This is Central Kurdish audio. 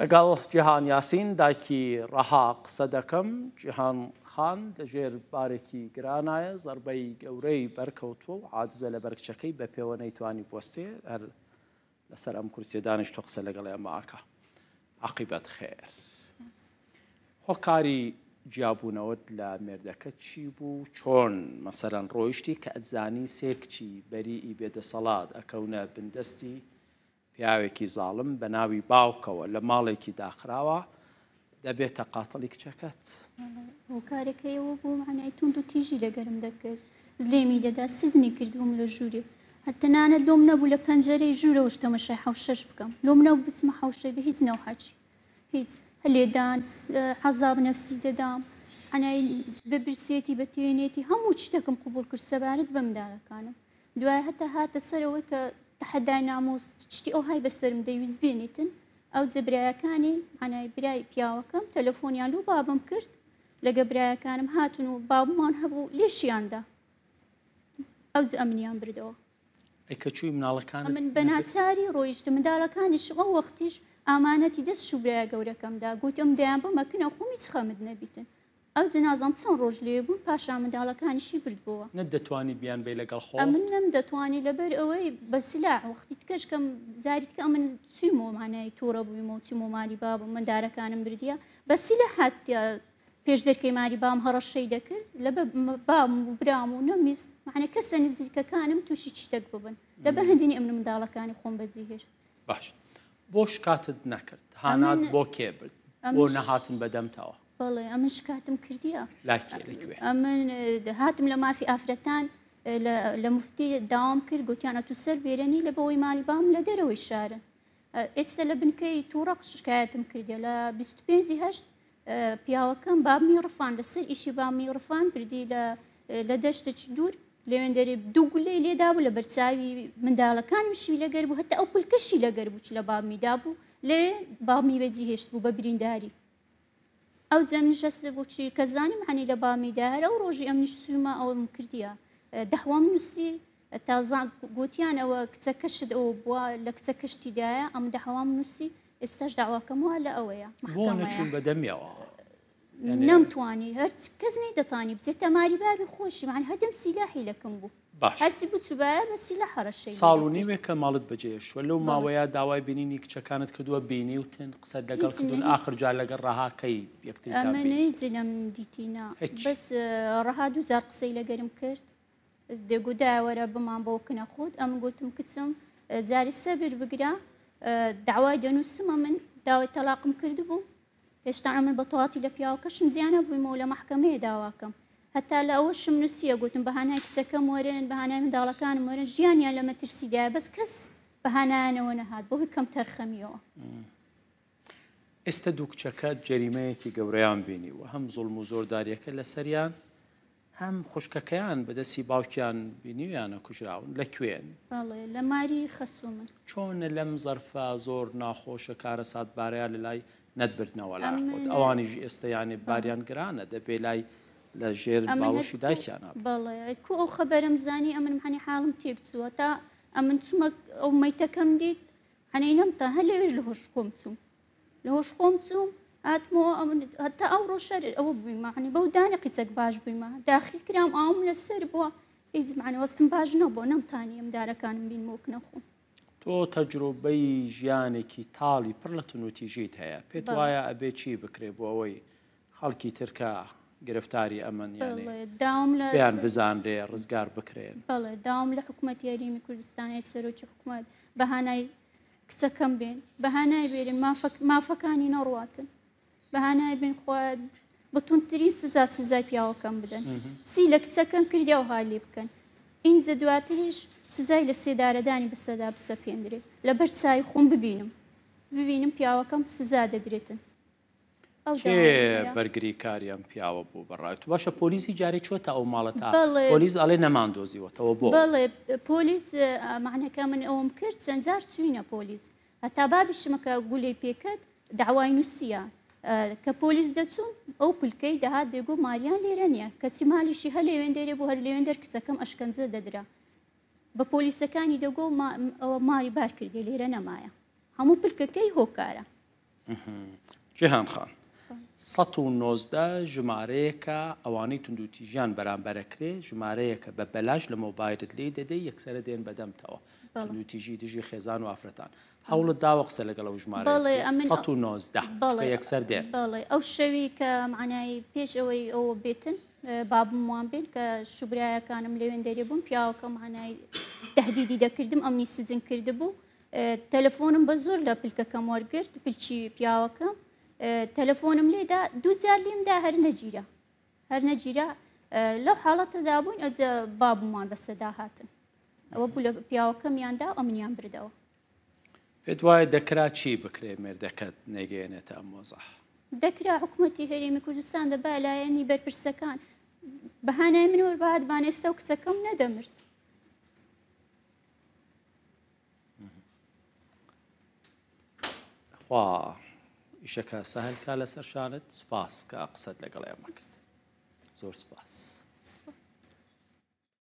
لەگەڵ جیهان یاسین دایکی ڕەها قسە دەکەم، جیهان خان لەژێر بارێکی گرانایە، زەربەی گەورەی بەرکەوتووە و عاجزە لەبەر کچەکەی بە پێوە نەیتوانی بوەستێ، هەر لەسەر ئەم کورسیە دانیشتوە قسە لەگەڵ ئێمە ئەکا. عاقیبەت خێر. هۆکاری جیابوونەوەت لە مێردەکەت چی بوو؟ چۆن مەسەلەن ڕۆیشتی کە ئەتزانی سێ کچی بەریئی بێدەسەڵات ئەکەونە بندەستی پیاوێکی زاڵم بە ناوی باوکەوە لە ماڵێکی داخراوە دەبێتە قاتڵی کچەکەت. هۆکارەکەی ئەوە بوو مەعنای توند و تیژی لەگەرم دەکرد لێمی دەدا سزنی کردبووم لە ژوورێ تەنانەت لۆم نەبوو لە پەنجەرەی ژوورەوەش تەمەشای حەوشەش بکەم لۆم نەبوو بچمە حەوشەی بە هیچ نەوحەکی هیچ لێدان عەزاب نەفسی دەدام مەعنای بە برسێتی بە تێنێتی هەموو شتێکم قبوڵ کرد سەبارەت بە منداڵەکانم دوای هەتا هاتە سەر ئەوەی کە تەحەدای ناموس شتی ئەوهای بەسەرم دەیویست بێنیتن ئەوجە برایەکانی مانای برای پیاوەکەم تەلەفۆنیان لۆ بابم کرد لەگە برایەکانم هاتن و بابمان هەبوو لێشیاندا ئەوجە ئەمنیان بردەوە. ئەی کە چووی مناڵەکانت ئەمن بە ناچاری ڕۆیشتم منداڵەکانیشم ئەو وەختیش ئامانەتی دەست شوبرایە گەورەکەمدا گوتم دەیان بمە کنە خۆم هیچ خەمت نەبیتن ئەوجە نازانم چەند ڕۆژ لێ بوون پاشان منداڵەکانیشی بردبۆوە. نەتدەتوانی بیانبەی لەگەڵ خۆ؟ ئەمن نەمدەتوانی لەبەر ئەوەی بە سلاح وەختی تکەش کەم جاری تکە ئەمن چویمەوە مانای توڕە بوویمەوە چوومەوە مالی بابم مندارەکانم بردیە بە سلاح هاتیە پێش دەرکەی ماری بام هەڕەشەی دەکرد لە بابم و برام و نەمویست معنی کەسە نزیکەکانم تووشی شتێک ببن لە بە هەندینی ئەمن منداڵەکانی خۆم بەجی هێشت. باش بۆ شکاتت نەکرد؟ هانات بۆ کێ برد؟ بۆ نەهاتن بەدەمتەوە؟ بەڵێ ئەمن شکاتم کردیە. لای کێ لە کوێ؟ ئەمن هاتم لە مافی ئافرەتان لە مفتی داوام کرد گوتیان ئەتوو سەر بێرەنی لە بەوەی مالی بام لە دەرەوەی شارن ئێستا لە بنکەی تووڕق شکایەتم کردیە لە 25 هەشت پیاوەکەم بابمی ڕفان لەسەر ئیشی بابمی ڕفان بردی لە لە دەشتێکی دوور لەوێندەرێ دوو گولەی لێدابوو لە بەرچاوی منداڵەکانمشی لەگەر بوو هەتا ئەو پلکەشی لەگەر بوو چ لە بابمی دابوو لەوێ بابمی بەجی هێشت بوو بە برینداری ئەو جەمنیش هەست بوو چی کە زانیم حەنی لە بابمی دا هەر ئەو ڕۆژی ئەمنیش چوومە ئەوم کردیە دەحوام نووسی تازە گوتیان ئەوە کچەکەشت ئەوە بووە لە کچەکەشتی دایە ئەم دەحوام نووسی ئێستاش داواکەم وا لە ئەوەیە بۆ نەچوون بە دەمیەوە؟ نەمتوانی هەر کەس نەیدەتانی بچێتە ماری بابی خۆشی معنی هەردەم سیلاحی لەکم بوو باش هەرچی بچوبایە بە سیلاح هەڕەشەی لێ ساڵ و دەکرد. نیوێکە ماڵت بەجێهێشتووە لەو ماوەیە داوای بینینی کچەکانت کردووە بینیوتن قسەت لەگەڵ هیچ کردوون هیچ ئاخر جار لەگەڵ ڕەها کەی یەکتریتان ئەمن بینی؟ هیچ نەمدیتی نا هیچ بەس ڕەها دووجار قسەی لەگەرم کرد دەگو دایە وەرە بمان بۆ کنە خۆت ئەمن گوتم کچم جاری سەبر بگرە داوای دەنووسم ئەمن داوای تەلاقم کردبوو هێشتا ئەمن بە تەواتی لە پیاوەکەشم جیا نەبوویمەوە لە مەحکەمەیە داواکەم هەتا لە ئەوەشم نووسیە گوتم بە هانای کچەکەم وەرن بە هانای منداڵەکانم وەرن ژیانیان لە مەترسیدایە بەس کەس بە هانایانەوە نەهات بەهۆی کەمتەرخەمیەوە. ئێستە دوو کچەکەت جەریمەیەکی گەورەیان بینیوە هەم زوڵم و زۆرداریەکە لەسەریان هەم خوشکەکەیان بە دەستی باوکیان بینیویانە کوژراون لە کوێن؟ بەڵێ لە ماری خەسوومن. چۆنە لەم زەرفە زۆر ناخۆشە کارەساتبارەیا لە لای نەتبردنەوە لای خۆت ئەمن ئەوانیش ئێستە یانێ بەڵێ. باریان گرانە دەبێ لای لە ژێر ئەمن هەر باوەشی کو دایکیانا بن. بەڵێ کو ئەو خەبەرەم زانی ئەمن مەعنی حاڵم تێک چووە تا ئەمن چوومە ئەو مەیتەکەم دیت عەنەی نەمتا هەر لەوێش لە هۆش خۆم چووم. لە هۆش خۆم چووم هاتمەوە ئەمن هەتا ئەو ڕۆژە ئەوە بوویمە عنی بەو دانە قیچەک باش بوویمە داخیل کرام ئاوم لەسەر بووە هیچ معنی وەزعم باش نەبووە نەمتانی ئەم دارەکانم بینمەوە کنە خۆم. تۆ تەجروبەی ژیانێکی تاڵی پڕ لە توندوتیژیت هەیە، پێت بەڵێ. وایە ئەبێ چی بکرێ بۆ ئەوەی خەڵکی تر کە گرفتاری ئەمەن یانێ بەڵێ داوام لە پێیان بزانرێ ڕزگار بکرێن؟ بەڵێ داوام لە حکومەتی هەرێمی کوردستان ئەی سەرۆکی حکومەت بە هانای کچەکەم بێن بەهانای بێرن مافەکانی نەڕواتن بەهانای بێن خوایە بە توندترین سزا سزای پیاوەکەم بدەن چی لە کچەکەم کردی ئەوها لێ بکەن ئینجا دواتریش سزای لە سێدارەدانی بەسەدا بسەپێندرێ لەبەر چاوی خۆم ببینم ببینم پیاوەکەم سزا دەدرێتن. ئەو کێ داوایەم هەیە. بەرگریکاری ئەم پیاوە بوو بەڕای تو؟ باشە پۆلیسی جارێ چۆتە ئەو ماڵە تا بەڵێ. پۆلیس ئەڵێ نەمان دۆزیوەتەوە بۆ؟ بەڵێ پۆلیس مەعنەکە من ئەوەم کرد چەند جار چوینە پۆلیس هەتا بابیشمە کە گولەی پێکەت داوای نووسیە کە پۆلیس دەچوون ئەو پلکەی دەهات دەگۆ ماریان لێرە نییە کەچی مالیشی هەر لێوێندەرێ بوو هەر لێوێندەر کچەکەم ئەشکەنجە دەدرا بە پۆلیسەکانی دەگۆ ئەوە ماری بار کردێ لێرە نەمایە هەموو پلکەکەی هۆکارە. جیهان خان، 119 ژمارەیەکە ئەوانەی توندوتیژیان بەرامبەرەکرێ، ژمارەیەکە بە بەلاش لە مۆبایلت لێی دەدەی یەکسەرە دێن بەدەمتەوە. توندوتیژی دژی خێزان و ئافرەتان. هەوڵت داوە قسە لەگەڵ ئەو ژمارەیە بەڵێ، بکەی؟ ئەمن 119 بەڵێ، چونکە یەکسەر دێن. بەڵێ، ئەو شەوی کە مەعنای پێش ئەوەی ئەوە بێتن بابم وان بێن کە شوبرایەکانم لەوێن دەرێ بوون، پیاوەکە مەعنای تەهدیدی دەکردم، ئەمنی سجن کردبوو. تەلەفۆنم بە زۆر لە پلکەکەم وەرگرت، پلکی پیاوەکەم. تەلەفۆنم لێدا، دوو جار لێم دا هەر نەگیرا، هەر نەگیرا. لەو حاڵەتەدا بووین، ئەوجا بابمان بەسەدا هاتن. ئەوە بوو لە پیاوەکەمیان دا و ئەمنیان بردەوە. پێت وایە دەکرا چی بکرێ مێردەکەت نەگەیەنێتە ئەم وەزع؟ دەکرا حکوومەتی هەرێمی کوردستان دەبا لایەنی بەرپرسەکان بەهانای من وەربهاتبان، ئێستا و کچەکەم نەدەمرد. خوا ئیشەکە سەهل کا لەسەر شانت. سپاس کە قسەت لەگەڵ ئێمە کرد، زۆر سپاس.